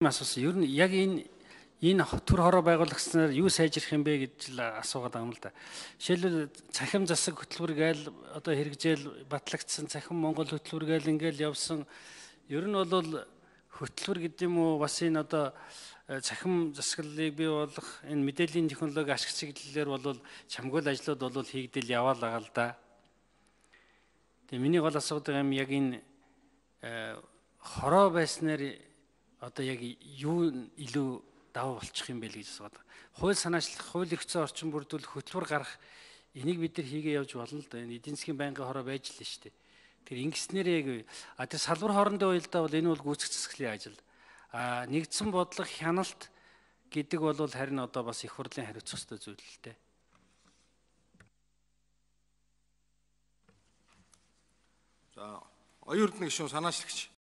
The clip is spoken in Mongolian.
Асуусан. Ер нь яг энэ төр хороо байгуулагчнаар юу сайжрах юм бэ гэж л асуугаад байгаа юм л да. Жишээлбэл цахим засаг хөтөлбөр гээл одоо хэрэгжээл батлагдсан цахим Монгол хөтөлбөр гээл ингээл явсан. Ер нь бол хөтөлбөр гэдэг юм уу бас энэ одоо цахим засаглалыг бий болгох энэ мэдээллийн технологи ашиг чиглэлээр бол чамгуул ажлууд бол хийгдэл яваал байгаа л да. Тэгээ миний гол асуудал юм яг энэ хороо байснаар одоо яг юу илүү даваа болчих юм бэ гэж асууад. Хууль санаачлах, хууль эрх зүйн орчин бүрдүүлэх, хөтөлбөр гарах энийг бид нар хийгээ явж болно л да. Энэ эдийн засгийн байнгын хороо байж л шүү дээ. Тэр ингэснээр яг тэр салбар хоорондын уялдаа бол энэ бол гүйцэх засаглалын ажил. Нэгдсэн бодлого хяналт гэдэг бол харин одоо бас их хурлын хариуцах ёстой зүйл л дээ. За, оюун эрдэнэ гишүүн санаачлагч